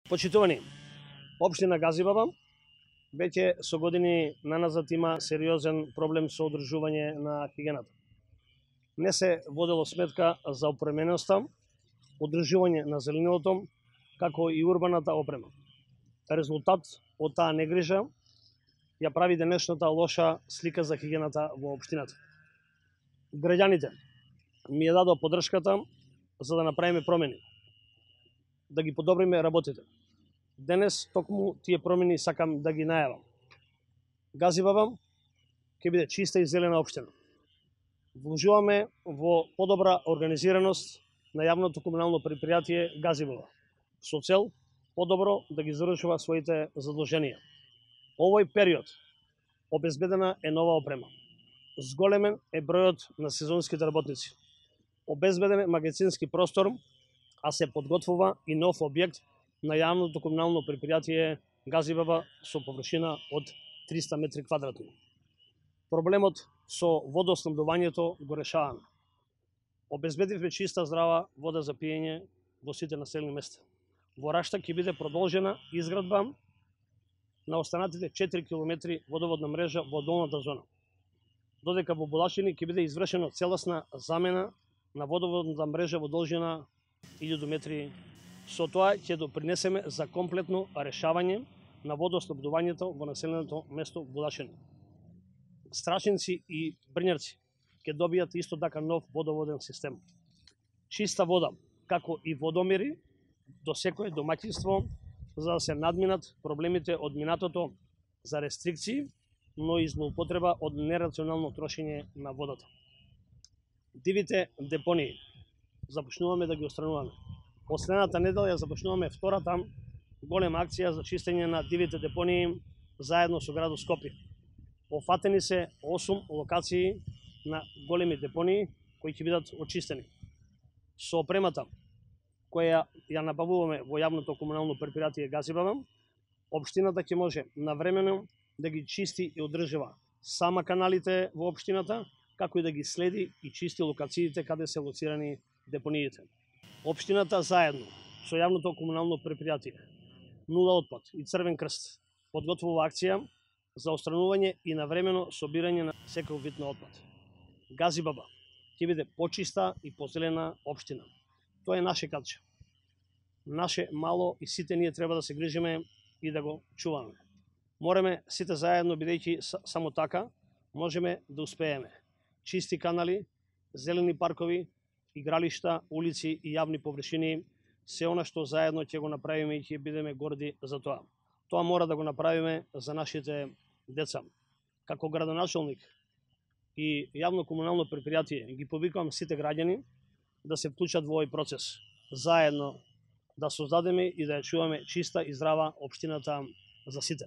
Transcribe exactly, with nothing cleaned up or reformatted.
Почитувани, општина Газибаба веќе со години наназад има сериозен проблем со одржување на хигиената. Не се водело сметка за опременоста, одржување на зеленилото, како и урбаната опрема. Резултат од таа негрижа ја прави денешната лоша слика за хигиената во општината. Граѓаните ми ја дадоа поддршката за да направиме промени, да ги подобриме работите. Денес токму тие промени сакам да ги најавам. Газибаба ќе биде чиста и зелена општина. Вложуваме во подобра организираност на јавното комунално предпријатие Газибаба со цел подобро да ги завршува своите задолженија. Овој период обезбедена е нова опрема. Зголемен е бројот на сезонските работници. Обезбеден е магазински простор, а се подготвува и нов објект на јавното комунално предпријатие Газибаба со површина од триста метри квадратни. Проблемот со водоснабдувањето го решаваме. Обезбедивме чиста здрава вода за пиење во сите населени места. Во Рашта ќе биде продолжена изградба на останатите четири километри водоводна мрежа во долната зона. Додека во Булашини ќе биде извршена целосна замена на водоводната мрежа во должина илјаду метри. Со тоа ќе допринесеме за комплетно решавање на водоснабдувањето во населеното место Булашини. Страшинци и Брњарци ќе добијат исто така нов водоводен систем. Чиста вода, како и водомери до секое домаќинство, за да се надминат проблемите од минатото за рестрикции, но и злоупотреба од нерационално трошење на водата. Дивите депонии започнуваме да ги отстрануваме. Последната недела ја започнуваме втората голема акција за чистење на дивите депонии заедно со градот Скопје. Офатени се осум локации на големи депонии кои ќе бидат очистени. Со опремата која ја набавуваме во јавното комунално предпријатие Газибаба, општината ќе може навремено да ги чисти и одржува сама каналите во општината, како и да ги следи и чисти локациите каде се лоцирани депониите. Општината заедно со јавното комунално предпријатие Нула отпад и Црвен крст подготвува акција за отстранување и навремено собирање на секој вид на отпад. Газибаба ќе биде почиста и позелена општина. Тоа е наше катче. Наше мало и сите ние треба да се грижиме и да го чуваме. Мораме сите заедно, бидејќи само така можеме да успееме. Чисти канали, зелени паркови, игралишта, улици и јавни површини, се она што заедно ќе го направиме и ќе бидеме горди за тоа. Тоа мора да го направиме за нашите деца. Како градоначалник и јавно комунално предпријатие ги повикувам сите граѓани да се вклучат во овој процес. Заедно да создадеме и да ја чуваме чиста и здрава општината за сите.